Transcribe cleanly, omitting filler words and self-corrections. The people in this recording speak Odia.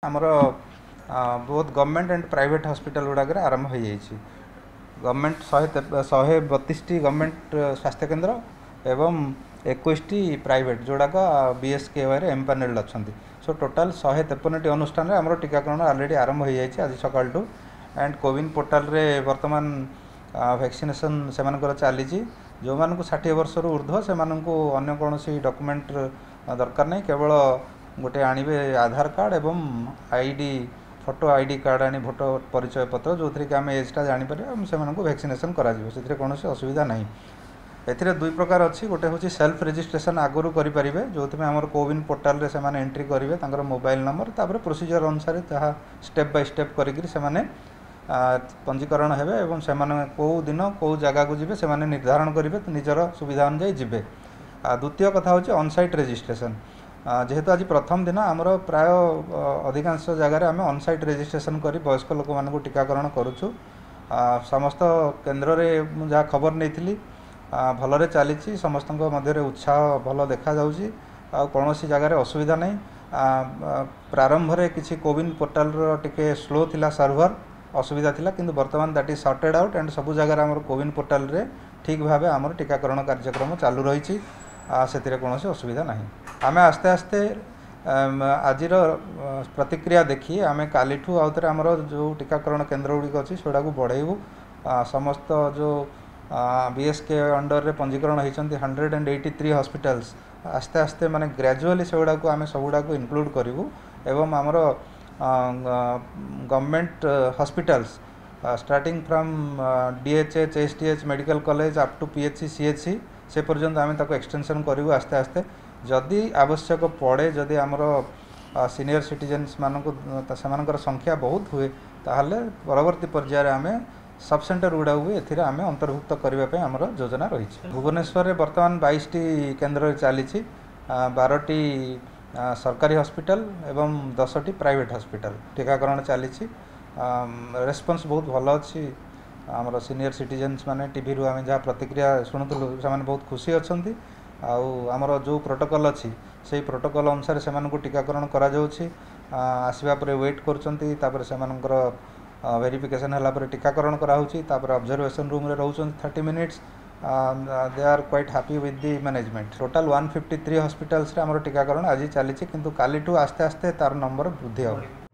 ଆମର ବହୁତ ଗଭର୍ଣ୍ଣମେଣ୍ଟ ଆଣ୍ଡ ପ୍ରାଇଭେଟ୍ ହସ୍ପିଟାଲ ଗୁଡ଼ାକରେ ଆରମ୍ଭ ହୋଇଯାଇଛି। ଗଭର୍ଣ୍ଣମେଣ୍ଟ 132ଟି ଗଭର୍ଣ୍ଣମେଣ୍ଟ ସ୍ୱାସ୍ଥ୍ୟକେନ୍ଦ୍ର ଏବଂ 21ଟି ପ୍ରାଇଭେଟ୍, ଯେଉଁଗୁଡ଼ାକ ବିଏସ୍କେୱାଇରେ ଏମ୍ପାନେଲ୍ଡ ଅଛନ୍ତି। ସୋ ଟୋଟାଲ୍ 153ଟି ଅନୁଷ୍ଠାନରେ ଆମର ଟୀକାକରଣ ଅଲରେଡ଼ି ଆରମ୍ଭ ହୋଇଯାଇଛି ଆଜି ସକାଳଠୁ। ଆଣ୍ଡ କୋୱିନ୍ ପୋର୍ଟାଲରେ ବର୍ତ୍ତମାନ ଭ୍ୟାକ୍ସିନେସନ୍ ସେମାନଙ୍କର ଚାଲିଛି। ଯେଉଁମାନଙ୍କୁ 60 ବର୍ଷରୁ ଉର୍ଦ୍ଧ୍ୱ, ସେମାନଙ୍କୁ ଅନ୍ୟ କୌଣସି ଡକୁମେଣ୍ଟ ଦରକାର ନାହିଁ। କେବଳ ଗୋଟେ ଆଣିବେ ଆଧାର କାର୍ଡ଼ ଏବଂ I D, photo I D card ଆଣି, ଫଟୋ ପରିଚୟ ପତ୍ର, ଯେଉଁଥିରେ କି ଆମେ ଏଜ୍ଟା ଜାଣିପାରିବା ଏବଂ ସେମାନଙ୍କୁ ଭ୍ୟାକ୍ସିନେସନ୍ କରାଯିବ। ସେଥିରେ କୌଣସି ଅସୁବିଧା ନାହିଁ। ଏଥିରେ ଦୁଇ ପ୍ରକାର ଅଛି। ଗୋଟେ ହେଉଛି ସେଲ୍ଫ ରେଜିଷ୍ଟ୍ରେସନ୍ ଆଗରୁ କରିପାରିବେ, ଯେଉଁଥିପାଇଁ ଆମର କୋୱିନ୍ ପୋର୍ଟାଲରେ ସେମାନେ ଏଣ୍ଟ୍ରି କରିବେ ତାଙ୍କର ମୋବାଇଲ୍ ନମ୍ବର, ତାପରେ ପ୍ରୋସିଜର୍ ଅନୁସାରେ ଯାହା ଷ୍ଟେପ୍ ବାଇ ଷ୍ଟେପ୍ କରିକିରି ସେମାନେ ପଞ୍ଜୀକରଣ ହେବେ ଏବଂ ସେମାନେ କେଉଁ ଦିନ କେଉଁ ଜାଗାକୁ ଯିବେ ସେମାନେ ନିର୍ଦ୍ଧାରଣ କରିବେ, ନିଜର ସୁବିଧା ଅନୁଯାୟୀ ଯିବେ। ଦ୍ୱିତୀୟ କଥା ହେଉଛି ଅନସାଇଟ୍ ରେଜିଷ୍ଟ୍ରେସନ୍। ଯେହେତୁ ଆଜି ପ୍ରଥମ ଦିନ, ଆମର ପ୍ରାୟ ଅଧିକାଂଶ ଜାଗାରେ ଆମେ ଅନସାଇଟ୍ ରେଜିଷ୍ଟ୍ରେସନ୍ କରି ବୟସ୍କ ଲୋକମାନଙ୍କୁ ଟୀକାକରଣ କରୁଛୁ। ସମସ୍ତ କେନ୍ଦ୍ରରେ ମୁଁ ଯାହା ଖବର ନେଇଥିଲି, ଭଲରେ ଚାଲିଛି। ସମସ୍ତଙ୍କ ମଧ୍ୟରେ ଉତ୍ସାହ ଭଲ ଦେଖାଯାଉଛି ଆଉ କୌଣସି ଜାଗାରେ ଅସୁବିଧା ନାହିଁ। ପ୍ରାରମ୍ଭରେ କିଛି କୋୱିନ୍ ପୋର୍ଟାଲର ଟିକେ ସ୍ଲୋ ଥିଲା, ସର୍ଭର ଅସୁବିଧା ଥିଲା, କିନ୍ତୁ ବର୍ତ୍ତମାନ that is sorted out and ସବୁ ଜାଗାରେ ଆମର କୋୱିନ୍ ପୋର୍ଟାଲରେ ଠିକ୍ ଭାବେ ଆମର ଟୀକାକରଣ କାର୍ଯ୍ୟକ୍ରମ ଚାଲୁ ରହିଛି। ସେଥିରେ କୌଣସି ଅସୁବିଧା ନାହିଁ। ଆମେ ଆସ୍ତେ ଆସ୍ତେ ଆଜିର ପ୍ରତିକ୍ରିୟା ଦେଖି ଆମେ କାଲିଠୁ ଆଉ ଥରେ ଆମର ଯେଉଁ ଟୀକାକରଣ କେନ୍ଦ୍ର ଗୁଡ଼ିକ ଅଛି ସେଗୁଡ଼ାକୁ ବଢ଼େଇବୁ। ସମସ୍ତ ଯେଉଁ ବି ଏସ୍ କେ ଅଣ୍ଡରରେ ପଞ୍ଜୀକରଣ ହେଇଛନ୍ତି 183 ହସ୍ପିଟାଲ୍ସ, ଆସ୍ତେ ଆସ୍ତେ ମାନେ ଗ୍ରାଜୁଆଲି ସେଗୁଡ଼ାକୁ ଆମେ ସବୁଗୁଡ଼ାକୁ ଇନକ୍ଲୁଡ଼ କରିବୁ ଏବଂ ଆମର government hospitals starting from D H H, S D H, medical college up to P H C, C H C, ସେ ପର୍ଯ୍ୟନ୍ତ ଆମେ ତାକୁ ଏକ୍ସଟେନସନ୍ କରିବୁ ଆସ୍ତେ ଆସ୍ତେ। ଯଦି ଆବଶ୍ୟକ ପଡ଼େ, ଯଦି ଆମର ସିନିୟର ସିଟିଜେନ୍ସମାନଙ୍କୁ ସେମାନଙ୍କର ସଂଖ୍ୟା ବହୁତ ହୁଏ, ତାହେଲେ ପରବର୍ତ୍ତୀ ପର୍ଯ୍ୟାୟରେ ଆମେ ସବ୍ ସେଣ୍ଟର ଗୁଡ଼ାକୁ ବି ଏଥିରେ ଆମେ ଅନ୍ତର୍ଭୁକ୍ତ କରିବା ପାଇଁ ଆମର ଯୋଜନା ରହିଛି। ଭୁବନେଶ୍ୱରରେ ବର୍ତ୍ତମାନ 22ଟି କେନ୍ଦ୍ରରେ ଚାଲିଛି, 12ଟି ସରକାରୀ ହସ୍ପିଟାଲ ଏବଂ 10ଟି ପ୍ରାଇଭେଟ୍ ହସ୍ପିଟାଲ ଟୀକାକରଣ ଚାଲିଛି। ରେସ୍ପନ୍ସ ବହୁତ ଭଲ ଅଛି। ଆମର ସିନିୟର ସିଟିଜେନ୍ସ ମାନେ, ଟିଭିରୁ ଆମେ ଯାହା ପ୍ରତିକ୍ରିୟା ଶୁଣୁଥିଲୁ, ସେମାନେ ବହୁତ ଖୁସି ଅଛନ୍ତି। ଆଉ ଆମର ଯେଉଁ ପ୍ରୋଟୋକଲ୍ ଅଛି, ସେଇ ପ୍ରୋଟୋକଲ୍ ଅନୁସାରେ ସେମାନଙ୍କୁ ଟୀକାକରଣ କରାଯାଉଛି। ଆସିବା ପରେ ୱେଟ୍ କରୁଛନ୍ତି, ତାପରେ ସେମାନଙ୍କର ଭେରିଫିକେସନ୍ ହେଲା ପରେ ଟୀକାକରଣ କରାହେଉଛି, ତାପରେ ଅବଜରଭେସନ୍ ରୁମ୍ରେ ରହୁଛନ୍ତି 30 minutes. They are quite happy with the management. Total 153 ହସ୍ପିଟାଲ୍ସରେ ଆମର ଟୀକାକରଣ ଆଜି ଚାଲିଛି, କିନ୍ତୁ କାଲିଠୁ ଆସ୍ତେ ଆସ୍ତେ ତାର ନମ୍ବର ବୃଦ୍ଧି ହେବ।